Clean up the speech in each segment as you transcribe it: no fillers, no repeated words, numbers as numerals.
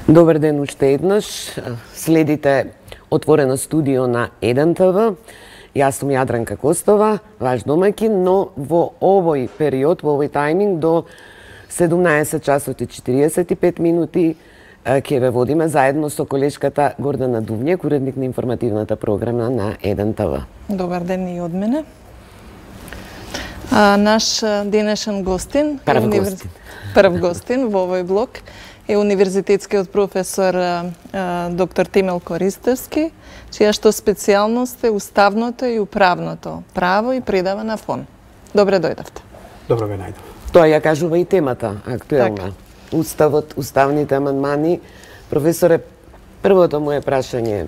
Добар ден уште еднаш. Следите Отворено студио на 1ТВ. Јас сум Јадранка Костова, ваш домаќин, но во овој период, во овој тајминг до 17 часот и 45 минути ќе ве водиме заедно со колешката Гордана Дувњек, уредник на информативната програма на 1ТВ. Добар ден и од мене. Наш денешен гостин, прв гостин во овој блок е универзитетскиот професор доктор Темел Користевски, чија што специјалност е уставното и управното право и предава на ФОН. Добре дојдовте. Добро ве најдов. Тоа ја кажува и темата актуелна. Так. Уставот, уставните амандмани. Професоре, првото моје прашање е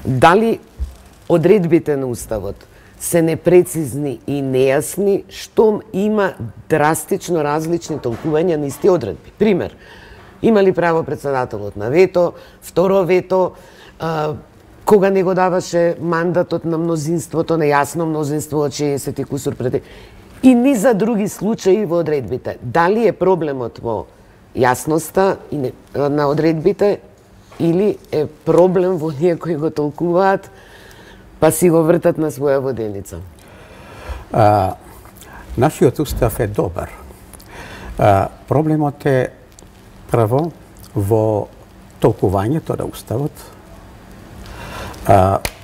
дали одредбите на уставот се непрецизни и нејасни, штом има драстично различни толкувања на исти одредби. Пример, има ли право председателот на вето, второ вето, кога не го даваше мандатот на мнозинството, нејасно мнозинство од 60 кусур пред... И ни за други случаи во одредбите. Дали е проблемот во јасноста на одредбите или е проблем во ние кои го толкуваат па си го вртат на своја воденица? Нашиот устав е добар. Проблемот е прво во толкувањето на уставот.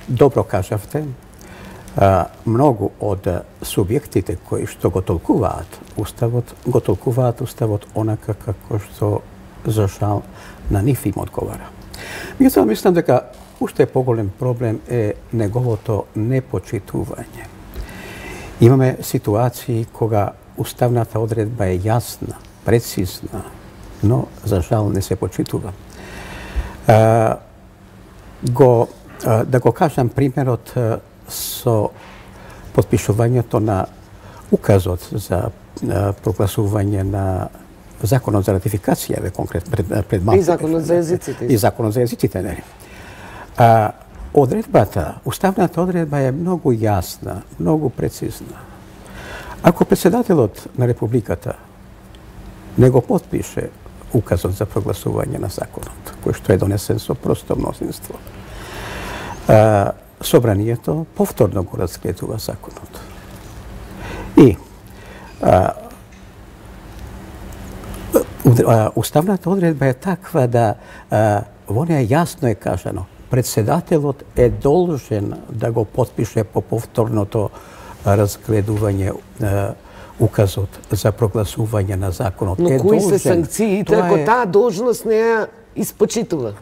Добро кажавте, многу од субјектите кои што го толкуваат уставот онака како што за жал на нив им одговара. Меѓутоа мислам дека уште поголем проблем е неговото непочитување. Имаме ситуации кога уставната одредба е јасна, прецизна, но за жал не се почитува. Да го кажам примерот со подпишувањето на указот за прогласување на законот за ратификација, пред малку. И законот за езиците. И законот за езиците, не. Одредбата, уставната одредба е многу јасна, многу прецизна. Ако председателот на Републиката не го потпише указот за прогласување на законот, кој што е донесен со просто мнозинство, собранието повторно го разгледува законот. И уставната одредба е таква да во неја јасно е кажано председателот е должен да го потпише по повторното разгледување указот за прогласување на законот. Но кои се санкциите ако таа должност не ја испочитува?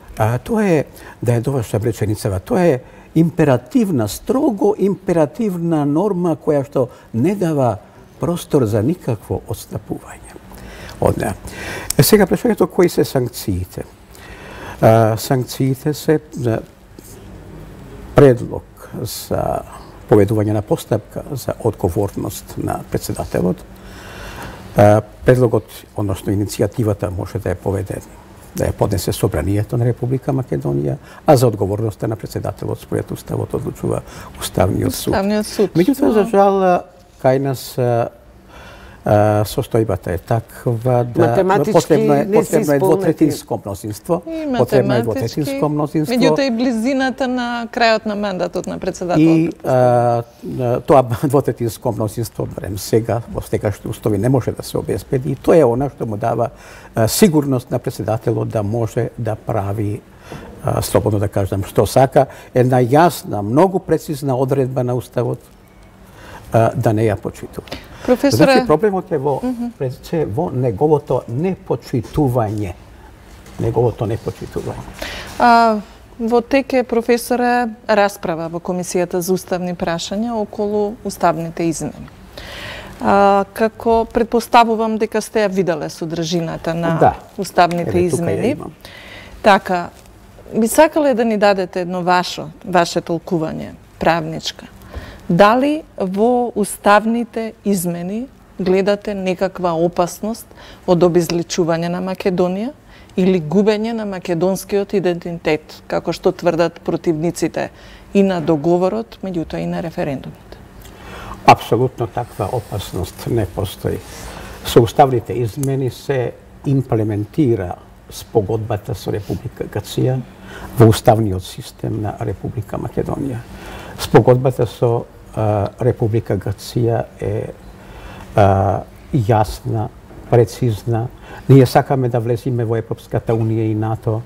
Тоа е, да ја довршам реченицава, тоа е императивна, строго императивна норма која што не дава простор за никакво отстапување од неа. Сега прашањето кои се санкциите? Санкциите се предлог за поведување на постапка за одговорност на председателот. Предлогот, односно иницијативата може да ја поднесе собранието на Република Македонија, а за одговорноста на председателот според уставот одлучува Уставниот суд. Меѓутоа, за жал, кај нас состојбата е таква да потребно е двотретинско мнозинство. Потребно е двотретинско мнозинство. Меѓутоа и близината на крајот на мандатот на председателот. И тоа двотретинско мнозинство, барем сега, во сегашните услови не може да се обезбеди. И тоа е она што му дава сигурност на председателот да може да прави, слободно да кажам, што сака, една јасна, многу прецизна одредба на уставот да не ја почитува. Професоре... Значи, проблемот е во неговото непочитување. Во тек е, професоре, расправа во Комисијата за уставни прашања околу уставните измени. Како предпоставувам дека сте ја виделе содржината на уставните измени. Така, би сакале да ни дадете едно ваше толкување, правничка. Дали во уставните измени гледате некаква опасност од обезличување на Македонија или губење на македонскиот идентитет, како што тврдат противниците и на договорот, меѓутоа и на референдумите? Апсолутно таква опасност не постои. Со уставните измени се имплементира спогодбата со Република Грција во уставниот систем на Република Македонија. Спогодбата со Република Грција е јасна, прецизна. Ние сакаме да влеземе во Европската унија и НАТО.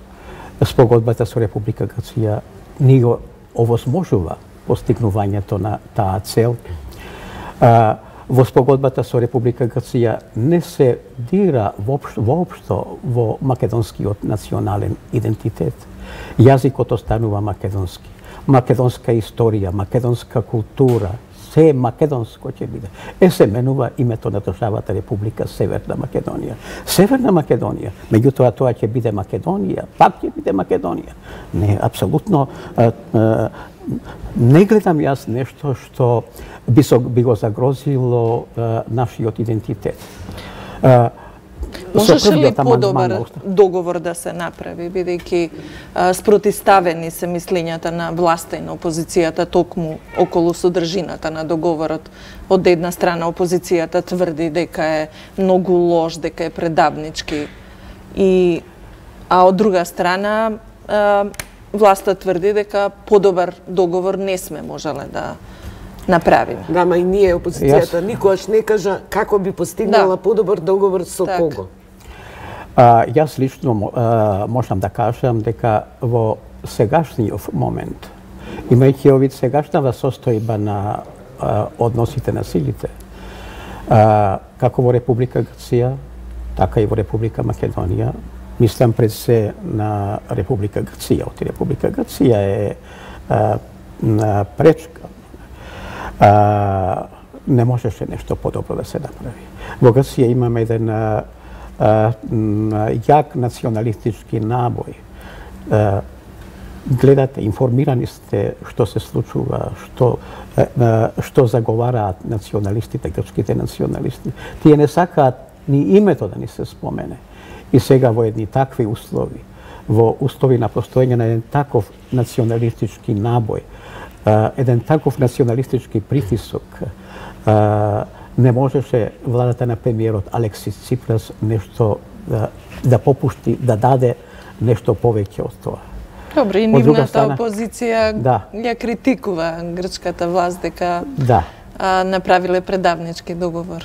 Спогодбата со Република Грција ни го овозможува постигнувањето на таа цел. Во спогодбата со Република Грција не се дира воопшто во македонскиот национален идентитет. Јазикот останува македонски. Македонска историја, македонска култура, се македонско ќе биде. Се менува името на државата Република Северна Македонија. Северна Македонија, меѓутоа тоа ќе биде Македонија, пак ќе биде Македонија. Не, апсолутно не гледам јас нешто што би го загрозило нашиот идентитет. Можеше ли подобар договор да се направи, бидејќи спротивставени се мислењата на власта и на опозицијата токму околу содржината на договорот? Од една страна опозицијата тврди дека е многу лош, дека е предавнички, а од друга страна власта тврди дека подобар договор не сме можеле да направиме. Да, ма и ние, опозицијата, никогаш не кажа како би постигнала подобар договор со кого. Јас лично можам да кажам дека во сегашниот момент, имајќи овид сегашнава состојба на односите на силите, како во Република Грција, така и во Република Македонија, мислам пред се на Република Грција. Оти Република Грција е пречка. Не можеше нешто подобро да се направи. Во Грција имаме еден јак националистички набој. Гледате, информирани сте што се случува, што заговараат националистите, грчките националисти. Тие не сакаат ни името да ни се спомене. И сега во едни такви услови, во услови на постоење на еден таков националистички набој, еден таков националистички притисок, не можеше владата на премиерот Алексис Ципрас нешто да попушти, да даде нешто повеќе од тоа. Добро, и нивната опозиција ја критикува грчката власт дека направиле предавнички договор.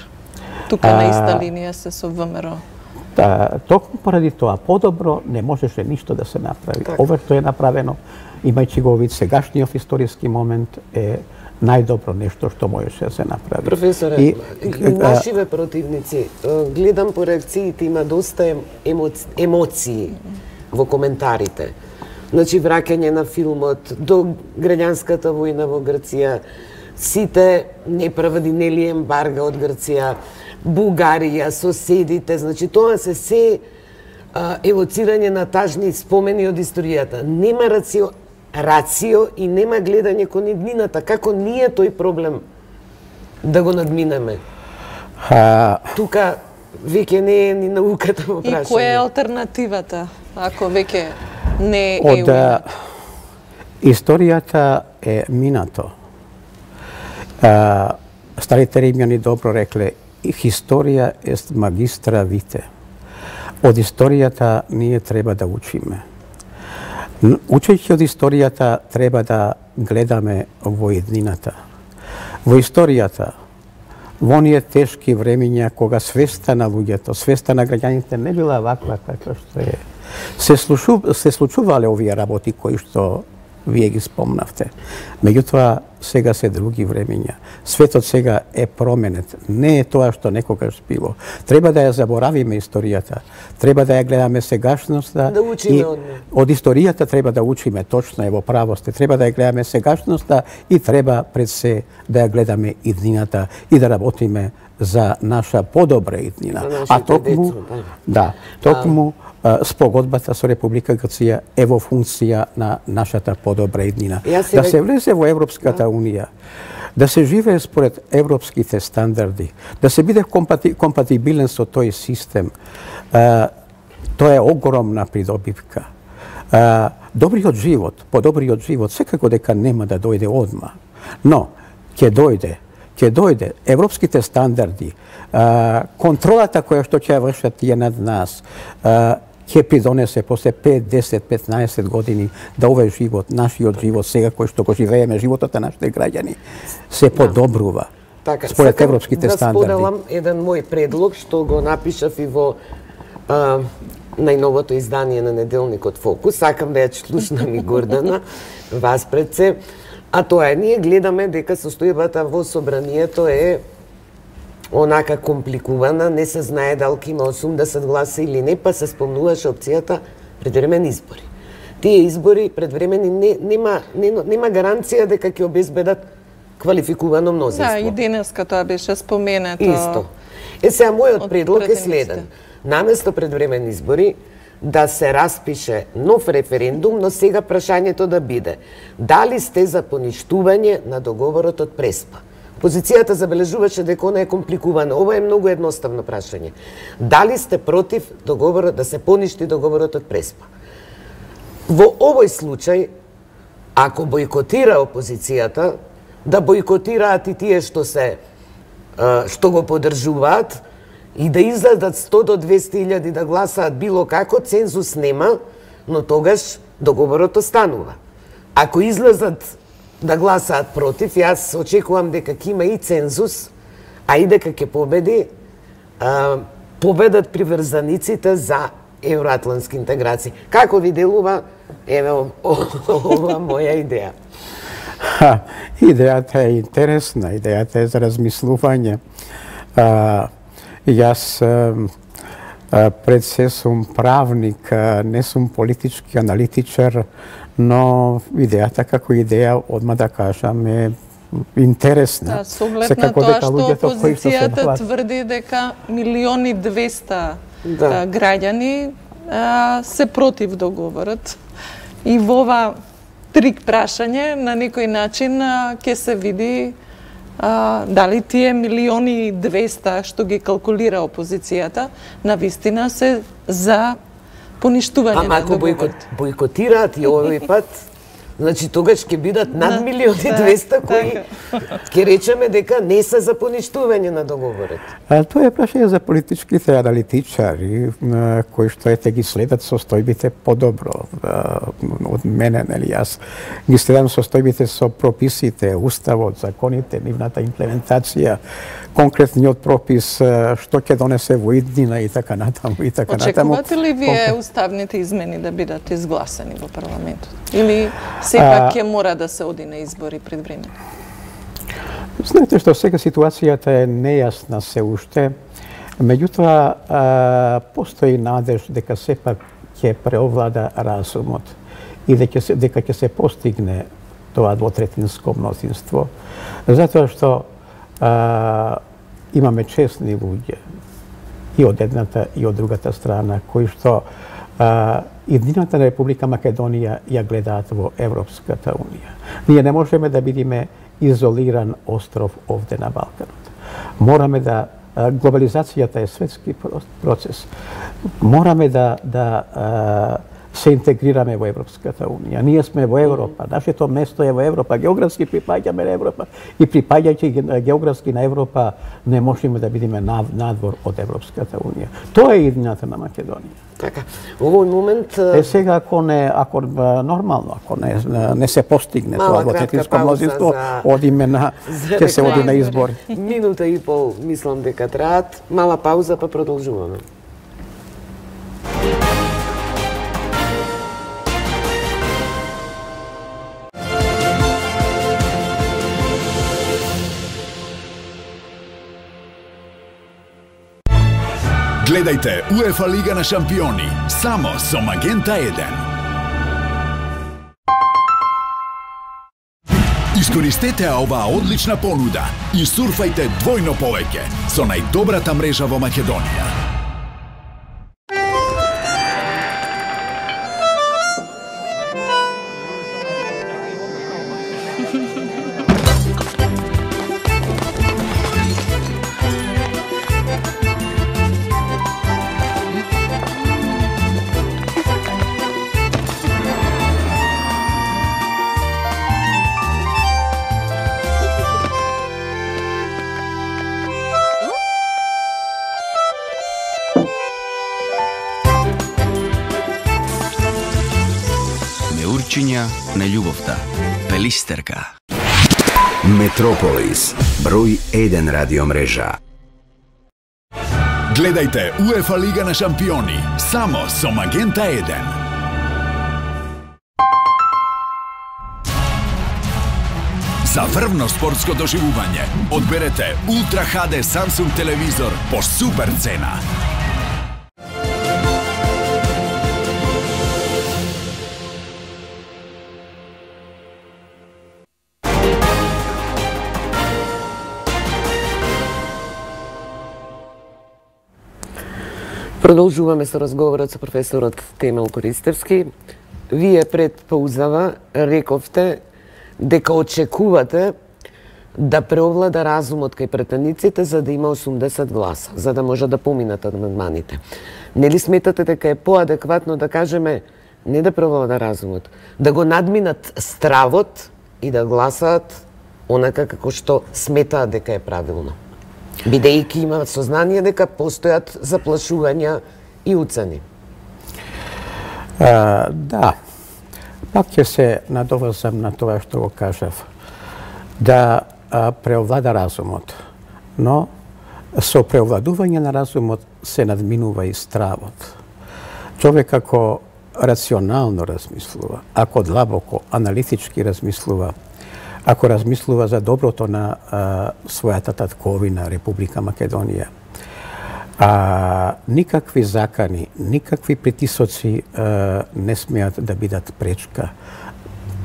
Тука на иста линија се со ВМРО. Токму поради тоа подобро не можеше ништо да се направи. Ова што е направено, имајќи го вид сегашниот историски момент, е најдобро нешто што можеше да се направи. Професоре, нашиве противници, гледам по реакциите, има доста емоции во коментарите. Значи, враќање на филмот, до граѓанската војна во Грција, сите неправди, нели ембарга од Грција, Бугарија, соседите, значи тоа се евоцирање на тажни спомени од историјата. Нема рацио и нема гледање кон иднината. Како ние тој проблем да го надминеме? Тука веќе не е ни науката во прашање. И која е алтернативата, ако веќе не е уина? Историјата е минато. Старите римјани добро рекле, историја е магистра вите. Од историјата ние треба да учиме. Учејќи од историјата треба да гледаме во еднината. Во историјата, во оние тешки времења кога свеста на луѓето, свеста на граѓаните не била ваква како што е. Се случувале овие работи кои што вие ги спомнавте. Меѓутоа, сега се други времења. Светот сега е променет. Не е тоа што некогаш било. Треба да ја заборавиме историјата. Треба да ја гледаме сегашноста. Да учиме од историјата треба да учиме, точно е во право сте. Треба да ја гледаме сегашноста и треба пред се да ја гледаме иднината и да работиме за наша подобра иднина. А токму, токму спогодбата со Република Грција е во функција на нашата подобра иднина. Да се влезе во Европската унија, да се живее според европските стандарди, да се биде компатибилен со тој систем, тоа е огромна придобивка. Добриот живот, подобриот живот, секако дека нема да дојде одма, но ќе дојде европските стандарди, контролата која што ќе вршат тие над нас, ќе придонесе после 5, 10, 15 години да овој живот, нашиот живот, сега кој што го живееме, животот на нашите граѓани, се подобрува. Така, според европските стандарди. Да споделам еден мој предлог што го напишав и во најновото издание на неделникот Фокус. Сакам да ја слушнам и Гордана, вас пред се. А тоа е, ние гледаме дека состојбата во собранието е онака компликувана, не се знае дали ќе има 80 гласа или не, па се спомнуваше опцијата предвремени избори. Тие избори предвремени нема гаранција дека ќе обезбедат квалификувано мнозинство. Да, и денеска тоа беше споменато. Исто. Сега мојот предлог е следен. Наместо предвремени избори да се распише нов референдум, но сега прашањето да биде: дали сте за поништување на договорот од Преспа? Позицијата забележуваше дека она е компликувана. Ова е многу едноставно прашање. Дали сте против договорот да се поништи договорот од Преспа? Во овој случај, ако бојкотира опозицијата, да бојкотираат и тие што го поддржуваат и да излезат 100 до 200 илјади да гласаат било како, цензус нема, но тогаш договорот останува. Ако излезат да гласаат против, јас очекувам дека ќе има и цензус, а и дека ќе победат приврзаниците за евроатлантски интеграции. Како ви делува, еве ова моја идеја? Идејата е интересна, идејата е за размислување. Јас пред се сум правник, не сум политички аналитичар, но идејата како идеја, одма да кажам, е интересна. Да, со оглед на тоа што опозицијата тврди дека 1.200.000 граѓани се против договорот. И во ова трик прашање на некој начин ќе се види дали тие 1.200.000 што ги калкулира опозицијата навистина се за поништување на договорот. Ако бојкотираат и овој пат, значи тогаш ќе бидат над 1.200.000 кои ќе речеме дека не се за поништување на договорот. Тоа е прашање за политичките аналитичари кои што ги следат состојбите подобро од мене, нели, јас ги следам состојбите со прописите, уставот, законите, нивната имплементација, конкретниот пропис што ќе донесе во иднина и така натаму и така натаму. Очекувате ли вие уставните измени да бидат изгласани во парламентот? Или сепак ќе мора да се оди на избори пред време? Знаете што сега ситуацијата е нејасна се уште, меѓутоа постои надеж дека сепак ќе преовлада разумот и дека ќе се постигне тоа двотретинско мнозинство, затоа што имаме честни луѓе и од едната и од другата страна кои што иднината на Република Македонија ја гледаат во Европската унија. Ние не можеме да бидеме изолиран остров овде на Балканот. Мораме да глобализацијата е светски процес. Мораме да се интегрираме во Европската унија. Ние сме во Европа, нашето место е во Европа, географски припаѓаме на Европа и припаѓајќи географски на Европа не можеме да бидеме надвор од Европската унија. Тоа е иднината на Македонија. Така, овој момент сега ако нормално, ако не се постигне тоа двотретинско мнозинство, ќе се оди на избори. Минута и пол мислам дека траат, мала пауза па продолжуваме. Гледајте УЕФА Лига на шампиони, само со Магента 1. Искористете оваа одлична понуда и сурфајте двојно повеќе со најдобрата мрежа во Македонија. Причиња на љубовта. Пелистерка. Метрополис, број 1 радиомрежа. Гледајте УЕФА Лига на шампиони, само со Магента 1. За врвно спортско доживување, одберете Ultra HD Samsung телевизор по супер цена. Продолжуваме со разговорот со професорот Темел Користевски. Вие пред паузава рековте дека очекувате да преовлада разумот кај претениците за да има 80 гласа, за да може да поминат амандманите. Нели сметате дека е поадекватно да кажеме не да преовлада разумот, да го надминат стравот и да гласаат онака како што сметаат дека е правилно? Бидејќи имаат сознание дека постојат заплашувања и уцени. Да, пак ќе се надоврзам на тоа што го кажав. Да преовлада разумот, но со преовладување на разумот се надминува и стравот. Човек ако рационално размислува, ако длабоко, аналитички размислува, ако размислува за доброто на својата татковина, Република Македонија, никакви закани, никакви притисоци не смеат да бидат пречка.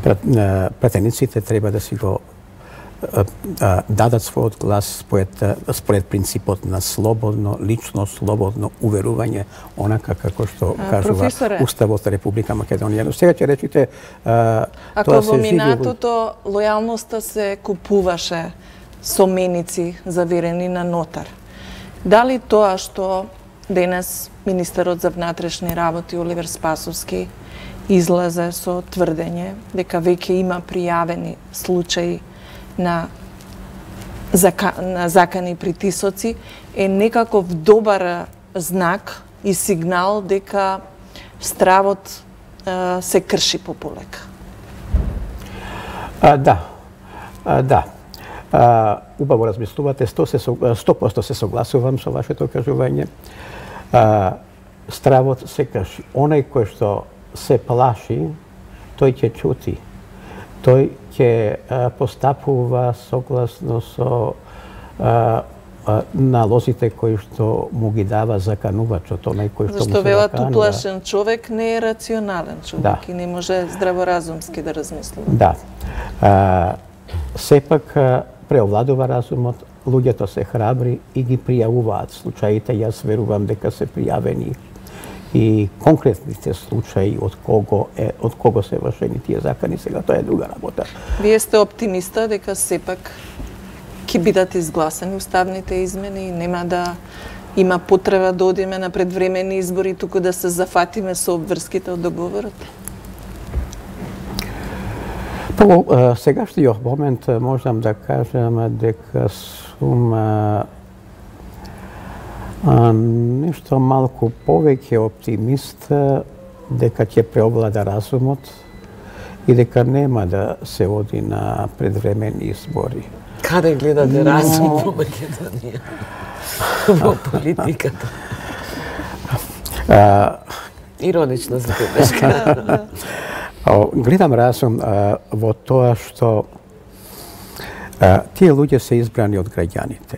Пратениците треба да си го дадат својот глас според принципот на слободно, лично слободно уверување, онака како што кажува Уставот на Република Македонија. Но сега ќе речите ако во минатото лојалноста се купуваше со меници заверени на нотар, дали тоа што денес министерот за внатрешни работи Оливер Спасовски излезе со тврдење дека веќе има пријавени случаи на закани притисоци е некаков добар знак и сигнал дека стравот се крши пополека? Да. Убаво размислувате, 100% се согласувам со вашето кажување. Стравот се крши. Онај кој што се плаши, тој ќе чути. Тој ќе постапува согласно со налозите кои што му ги дава заканувачот, онај кој што му се Зашто велат уплашен човек не е рационален човек и не може здраворазумски да размислува. Да. Сепак преовладува разумот, луѓето се храбри и ги пријавуваат случаите. Јас верувам дека се пријавени и конкретните случаи од кого се вршени тие закани, сега тоа е друга работа. Вие сте оптимиста дека сепак ќе бидат изгласани уставните измени и нема да има потреба да одиме на предвремени избори, туку да се зафатиме со обврските од договорот? Во сегашниот момент можам да кажам дека сум нешто малку повеќе оптимист дека ќе преовлада разумот и дека нема да се оди на предвремени избори. Каде гледате разум во Македонија? Во политиката? Иронична забелешка. Гледам разум во тоа што тие луѓе се избрани од граѓаните.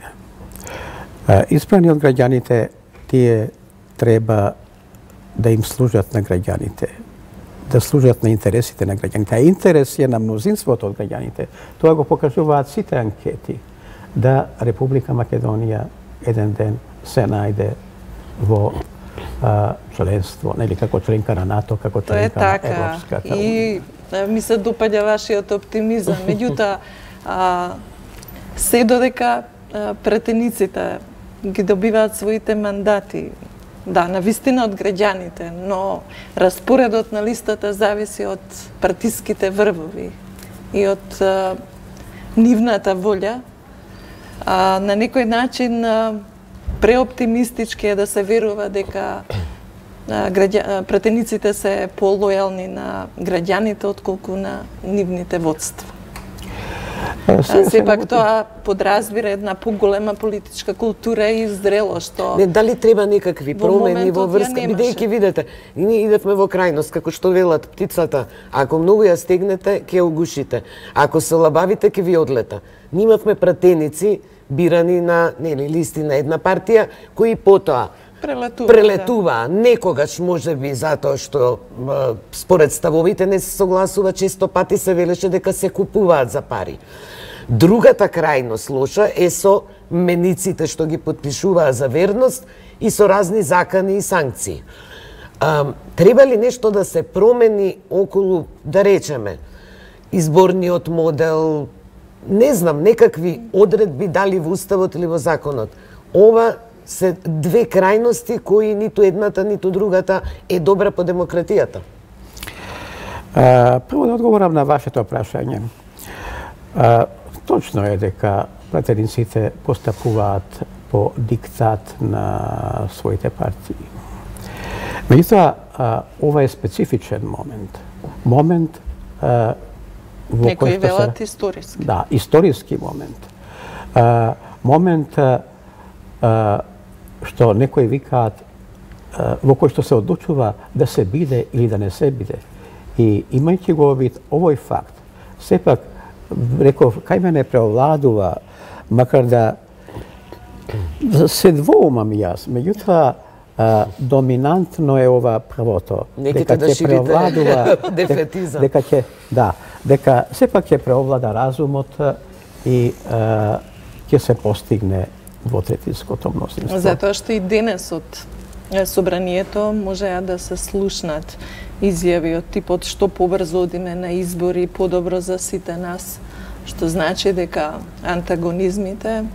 Избрани од граѓаните, тие треба да им служат на граѓаните, да служат на интересите на граѓаните. А интерес е на мнозинството од граѓаните. Тоа го покажуваат сите анкети, да Република Македонија еден ден се најде во членство, нели како членка на НАТО, како членка на Европската унија. И ми се допаѓа вашиот оптимизам. Меѓутоа, се додека претениците ги добиваат своите мандати, да, навистина од граѓаните, но распоредот на листата зависи од партиските врвови и од нивната волја. На некој начин преоптимистички е да се верува дека пратениците се полојални на граѓаните отколку на нивните водства. Сепак тоа подразбира една поголема политичка култура и зрело што Не, дали треба некакви промени во врска, бидејќи видете, ние идевме во крајност, како што велат птицата, ако многу ја стегнете, ќе ја угушите. Ако се лабавите, ќе ви одлета. Ние имавме пратеници бирани на листи на една партија, кои потоа прелетуваа. Некогаш можеби затоа што според ставовите не се согласува, често пати се велеше дека се купуваат за пари. Другата крајност лоша е со мениците што ги потпишуваа за верност и со разни закани и санкции. Треба ли нешто да се промени околу, да речеме, изборниот модел, не знам, некакви одредби дали во уставот или во законот? Ова се две крајности кои ниту едната, ниту другата е добра по демократијата. Прво да одговорам на вашето прашање. Точно е дека пратениците постапуваат по диктат на своите партии. Меѓутоа, ова е специфичен момент. Момент во некои велат историски. Да, историски момент. Момент што некои викаат во кој што се одлучува да се биде или да не се биде. И имајќи го вид овој факт, сепак реков, кај мене преовладува, макар да се двоумам јас, меѓутоа доминантно е ова првото. Неките да ширите дефетизам. Дека сепак ќе преовлада разумот и ќе се постигне двотретинското мнозинство. Затоа што и денес од собранието можеа да се слушнат изјави од типот што побрзо одиме на избори, подобро за сите нас, што значи дека антагонизмите,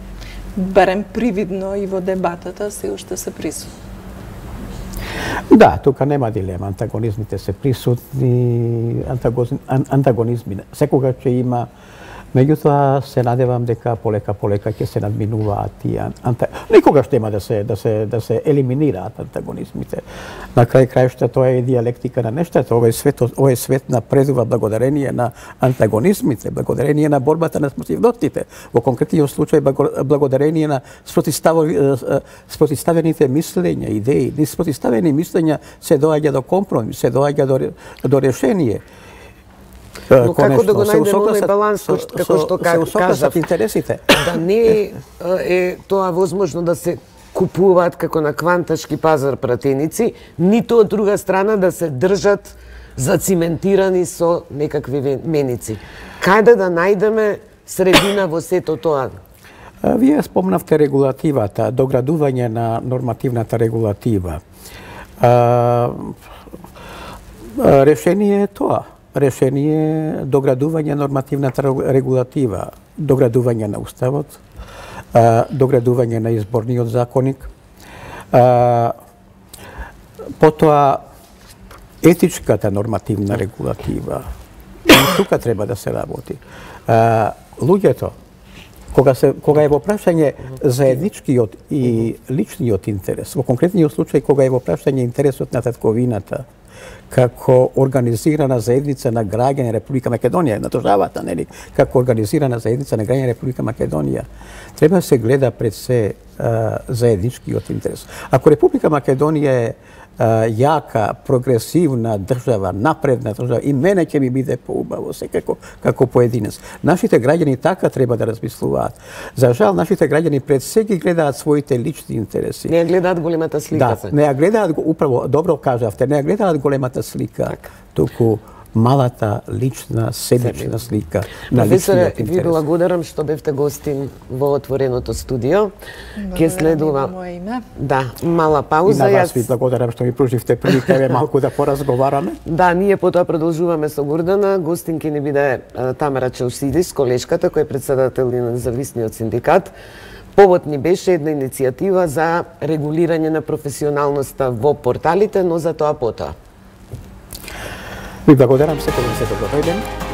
барем привидно и во дебатата, се уште се присутни. Да, тука нема дилема. Антагонизмите се присутни, антагонизми секогаш ќе има. Меѓутоа се надевам дека полека ќе се надминуваат тие никогаш нема да се елиминираат антагонизмите. На крајшта тоа е диалектика на нештата. Овој свет напредува благодарение на антагонизмите, благодарение на борбата на спротивностите. Во конкретниот случај благодарение на спротивставените мислења, идеи. Низ спротивставени мислења се доаѓа до компромис, се доаѓа до решение. Но како да го најдеме овој баланс, како што кажав, интересите. Да не е тоа возможно да се купуваат како на кванташки пазар пратеници, ниту од друга страна да се држат зациментирани со некакви меници. Каде да најдеме средина во сето тоа? Вие спомнавте регулативата, доградување на нормативната регулатива. Решение е тоа. Решение доградување нормативната регулатива, доградување на уставот, доградување на изборниот законник, потоа етичката нормативна регулатива. Тука треба да се работи. Луѓето, кога е во прашање заедничкиот и личниот интерес, во конкретниот случај кога е во прашање интересот на татковината, како организирана заедница на граѓани Република Македонија, на државата, нели, како организирана заедница на граѓани Република Македонија, треба да се гледа пред се заедничкиот интерес. Ако Република Македонија е јака, прогресивна држава, напредна држава, и мене ќе ми биде поубаво секако како поединец. Нашите граѓани така треба да размислуваат. За жал, нашите граѓани пред се ги гледаат своите лични интереси. Не ја гледаат големата слика. Да, не ја гледаат, управо, добро кажавте, не ја гледаат големата слика, туку малата лична, себична слика на личниот интерес. Ви благодарам што бевте гостин во отвореното студио. Ке следува мала пауза. И на вас ви благодарам што ми пруживте прилика малку да поразговараме. Да, ние потоа продолжуваме со Гордана. Гостин ке ни биде Тамара Челсидис, колешката која е председател на независниот синдикат. Повод ни беше една иницијатива за регулирање на професионалноста во порталите, но за тоа потоа. Ви благодарам, секој ден се добро дојден.